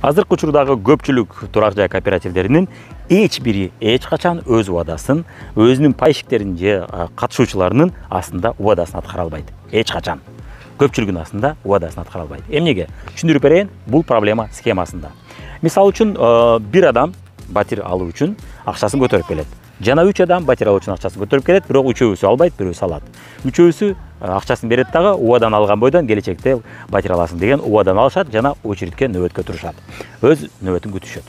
Азыркы учурдагы көпчүлүк турак жай кооперативдеринин эч бири эч качан өз убадасин, өзүнүн пайщиктерин же катышуучуларынын астында убадасын аткара албайт. Эч качан. Көпчүлүгүнүн астында убадасын аткара албайт. Эмнеге? Түшүндүрүп берейин, бул проблема схемасында. Мисалы үчүн, бир адам батир алуу үчүн акчасын көтөрүп келет. Жана 3 адам батир алуу үчүн акчасын көтөрүп келет, бирок үчөөсү албайт, бирөөсү алат. Үчөөсү акчасын берет дагы, убадан алган бойдон келечекте батир аласың деген убадан алышат жана очередке нөөбөткө турушат. Өз нөөбөтүн күтүшөт.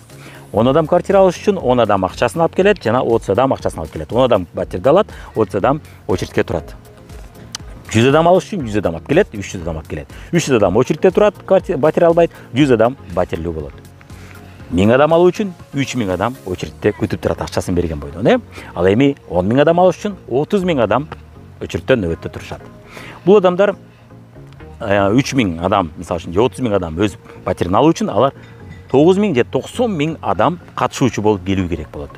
10 адам квартира алыш үчүн 10 адам акчасын алып келет жана 30 адам акчасын алып келет. 10 адам батирди алат, 30 адам очередке турат. 100 адам алыш үчүн 100 адам алып келет, 300 адам алып келет. 300 адам очередте турат, батир албайт, 100 адам батирлүү болот. 1000 адам алуу үчүн 3000 адам очередте күтүп турат акчасын берген бойдон, Ал эми 10 000 адам алыш үчүн 30 000 адам очередте нөөбөттө турушат. Бул адамдар 3000 адам, мисалы үчүн, же 30 000 адам өз батирин алуу үчүн алар 9 000 же 90 000 адам катышуучу болуп келүү керек болот.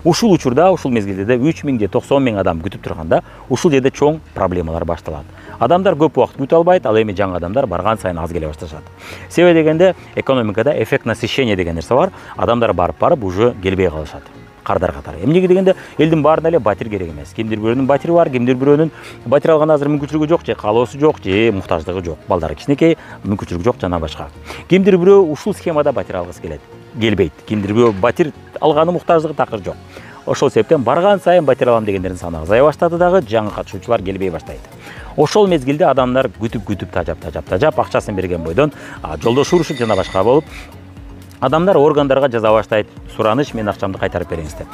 Ушул учурда, ушул мезгилде 3 000 же 90 000 адам күтүп турганда, ушул жерде чоң проблемалар башталат. Адамдар көп убакыт күтө албайт, ал эми жаңы адамдар барган сайын аз келе башташат. Себеби дегенде, экономикада эффект насыщения деген нерсе бар. Адамдар барып уже келбей калышат. Кардар катары. Эмнеге дегенде, элдин баарына эле батир керек эмес. Кимдир бирөөнүн батири бар, кимдир бирөөнүн батир алган азыр мүмкүнчүлүгү жок, же каалоосу жок, же муктаждыгы жок. Балдары кичинекей, мүмкүнчүлүгү жок жана башка. Кимдир бирөө ушул схемада батир алгысы келет. Келбейт. Кимдир бирөө батир алганы муктаждыгы такыр жок. Ошол себептен барган сайын батир алам дегендердин саны азая баштады дагы, жаңы катышуучулар келбей баштайт. Ошол мезгилде адамдар күтүп тажап акчасын берген бойдон жолдош урушуп жана башка болуп, адамдар органдарга жаза баштайт, сураныш, мен акчамды кайтарып бериңиз деп.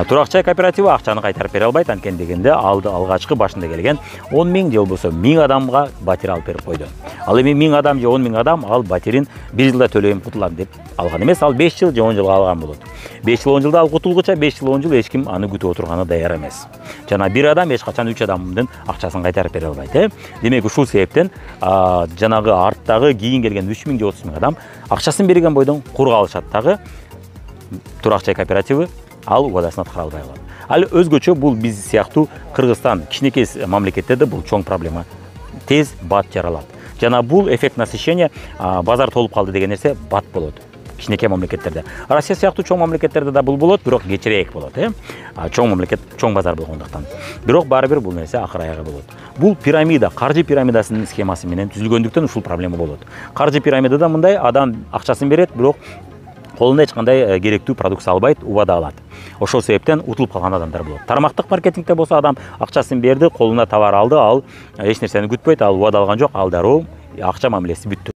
Турак жай кооперативи акчаны кайтарып бере албайт, анткени дегенде алгачкы башында келген 10 000 же болбосо 1000 адамга батир алып берип койду. Ал эми 1000 адам же 10 000 адам ал батирин 1 жылда төлөйм, кутулам деп алган эмес, ал 5 жыл же 10 жылга алган болот. 5 жыл 10 жылда ал кутулгуча 5 жыл 10 жыл эч ким аны күтүп отурганы даяр эмес. Жана бир адам эч качан 3 адамдын акчасын кайтарып бере албайт, Демек ушул себептен жанагы арттагы кийин келген 3 000 же 30 000 адам акчасын берген бойдон кур калышат дагы. Турак жай кооперативи ал убадасын аткара албай калат. Ал өзгөчө бул биз сыяктуу Кыргызстан кичинекей мамлекеттерде бул чоң проблема. Тез бат жаралат. Жана бул эффект насыщения, базар толуп калды деген нерсе бат болот. Кичинекей мамлекеттерде. Россия сыяктуу чоң мамлекеттерде да бул болот, бирок кечирээк болот, Чоң мамлекет, чоң базар болгондуктан. Бирок баары бир бул нерсе акыр аягы болот. Бул пирамида, каржы пирамидасынын схемасы менен түзүлгөндүктөн ушул проблема болот. Каржы пирамидада мындай, адам акчасын берет, бирок колунда эч кандай керектүү продукция албайт, убада алат. Ошол себептен утулуп калган адамдар болот. Тармактык маркетингде болсо адам акчасын берди, колуна товар алды, ал эч нерсени күтпөйт, ал убада алган жок, ал дароо акча мамилеси бүттү.